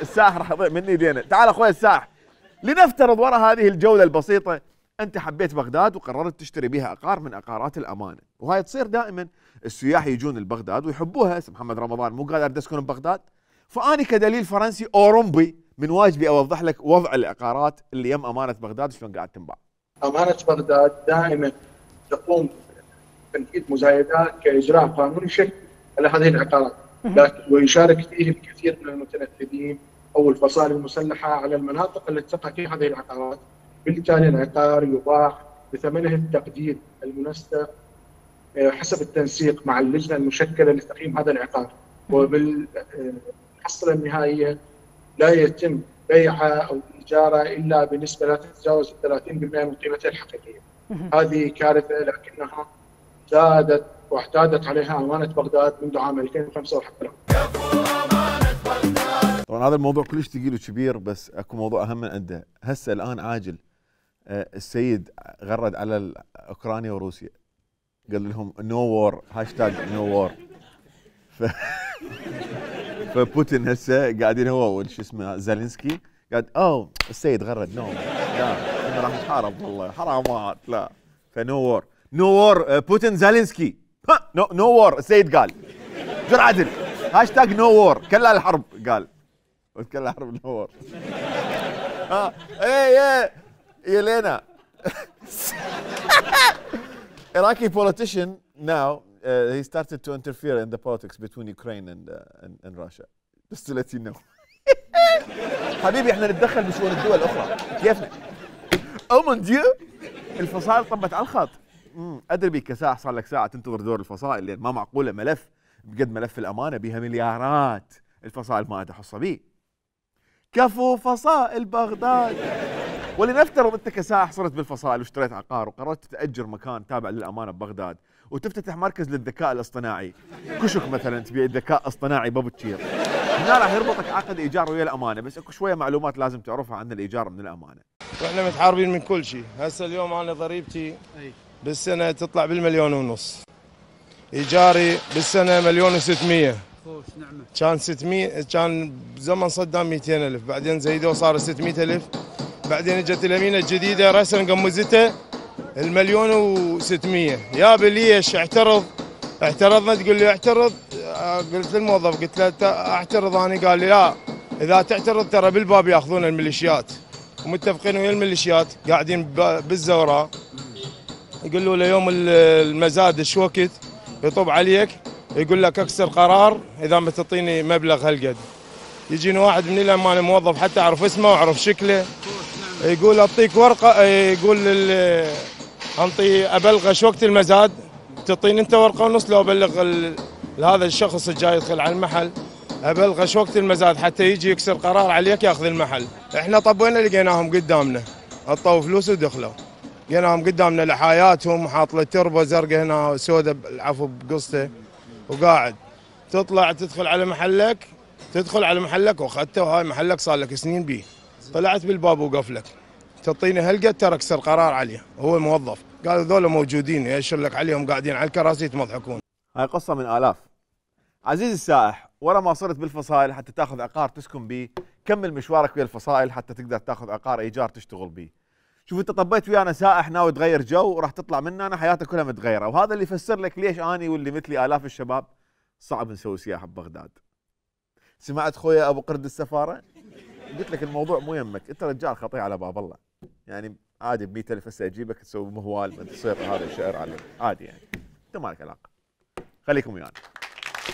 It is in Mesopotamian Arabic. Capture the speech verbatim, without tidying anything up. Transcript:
السائح راح يضيع مني ايدينا. تعال اخوي السائح، لنفترض وراء هذه الجوله البسيطه انت حبيت بغداد وقررت تشتري بها عقار من عقارات الامانه، وهاي تصير دائما السياح يجون لبغداد ويحبوها. هسه محمد رمضان مو قادر اسكن ببغداد، فاني كدليل فرنسي اوروبي من واجبي اوضح لك وضع العقارات اللي يم امانه بغداد شلون قاعد تنباع. امانه بغداد دائما تقوم بتنفيذ مزايدات كاجراء قانوني شكل على هذه العقارات، ويشارك فيه الكثير من المتنفذين او الفصائل المسلحه على المناطق التي تقع فيها هذه العقارات، بالتالي العقار يباع بثمنه التقدير المنسق حسب التنسيق مع اللجنه المشكله لتقييم هذا العقار، وبالحصيله النهائيه لا يتم بيعه او ايجاره الا بنسبه لا تتجاوز ثلاثين بالمئة من قيمتها الحقيقيه. هذه كارثه لكنها زادت واعتادت عليها امانه بغداد منذ عام ألفين وخمسة وحتى الان. طبعا هذا الموضوع كلش ثقيل وكبير، بس اكو موضوع اهم من عنده. هسه الان عاجل السيد غرد على اوكرانيا وروسيا، قال لهم نو وور، هاشتاج نو وور. ف... فبوتين هسه قاعدين هو شو اسمه زالينسكي قاعد اوه السيد غرد نو لا احنا راح نحارب والله حرامات لا، فنو وور نو وور بوتين زالينسكي نو نو وور. السيد قال جر عدل هاشتاج نو وور كلا الحرب، قال كلا الحرب نو وور. ها اي اي يا لينا. Iraqi politician now uh, he started to interfere in the politics between Ukraine and uh, and, and Russia. Just to let you know. حبيبي احنا نتدخل بشؤون الدول الاخرى كيفنا. او من ديو الفصائل طبت على الخط. امم ادري بيك كساح صار لك ساعه تنتظر دور الفصائل، لان ما معقوله ملف بقد ملف الامانه بها مليارات الفصائل ما عندها حصه بيه. كفو فصائل بغداد. ولنفترض انت كسائح صرت بالفصائل واشتريت عقار وقررت تأجر مكان تابع للامانه ببغداد وتفتتح مركز للذكاء الاصطناعي، كشك مثلا تبيع ذكاء اصطناعي بابتشير، هنا راح يربطك عقد ايجار ويا الامانه، بس اكو شويه معلومات لازم تعرفها عن الايجار من الامانه. واحنا متحاربين من كل شيء، هسه اليوم انا ضريبتي بالسنه تطلع بالمليون ونص. ايجاري بالسنه مليون وستمية. خوش نعمه. كان ستمية كان بزمن صدام مئتين ألف، بعدين زيدوه صار ستمية ألف، بعدين اجت الامينه الجديده رسم قمزته المليون وستمية. يا بليش اعترض، اعترضنا تقول لي اعترض، قلت للموظف قلت له اعترض انا، قال لي لا اذا تعترض ترى بالباب ياخذون الميليشيات، ومتفقين ويا الميليشيات قاعدين بالزوراء، يقولوا له يوم المزاد ايش وقت يطب عليك يقول لك اكسر قرار اذا ما تعطيني مبلغ هالقد. يجيني واحد من الامانه موظف حتى اعرف اسمه واعرف شكله، يقول اعطيك ورقه، يقول انطي ابلغ ايش وقت المزاد، تعطيني انت ورقه ونص لو ابلغ هذا الشخص الجاي يدخل على المحل ابلغ ايش وقت المزاد حتى يجي يكسر قرار عليك ياخذ المحل. احنا طبينا لقيناهم قدامنا، عطوا فلوس ودخلوا، لقيناهم قدامنا لحاياتهم، حاط له تربه زرقاء هنا سوداء العفو بقصته، وقاعد تطلع تدخل على محلك، تدخل على محلك واخذته، وهاي محلك صار لك سنين بيه، طلعت بالباب وقف لك، تعطيني هالقد ترى اكسر قرار عليه، هو موظف، قال ذولا موجودين يأشر لك عليهم قاعدين على الكراسي يتمضحكون. هاي قصه من الاف. عزيزي السائح، ورا ما صرت بالفصائل حتى تاخذ عقار تسكن بيه، كمل مشوارك ويا الفصائل حتى تقدر تاخذ عقار ايجار تشتغل بيه. شوف انت طبيت ويانا سائح ناوي تغير جو وراح تطلع مننا أنا حياتك كلها متغيره، وهذا اللي يفسر لك ليش اني واللي مثلي الاف الشباب صعب نسوي سياحه ببغداد. سمعت خويا ابو قرد السفاره؟ قلت لك الموضوع مو يمك، انت رجال خطيه على باب الله. يعني عادي ب مئة ألف هسه اجيبك تسوي مهوال تصير هذا الشعر عليه عادي، يعني انت مالك علاقه. خليكم ويانا.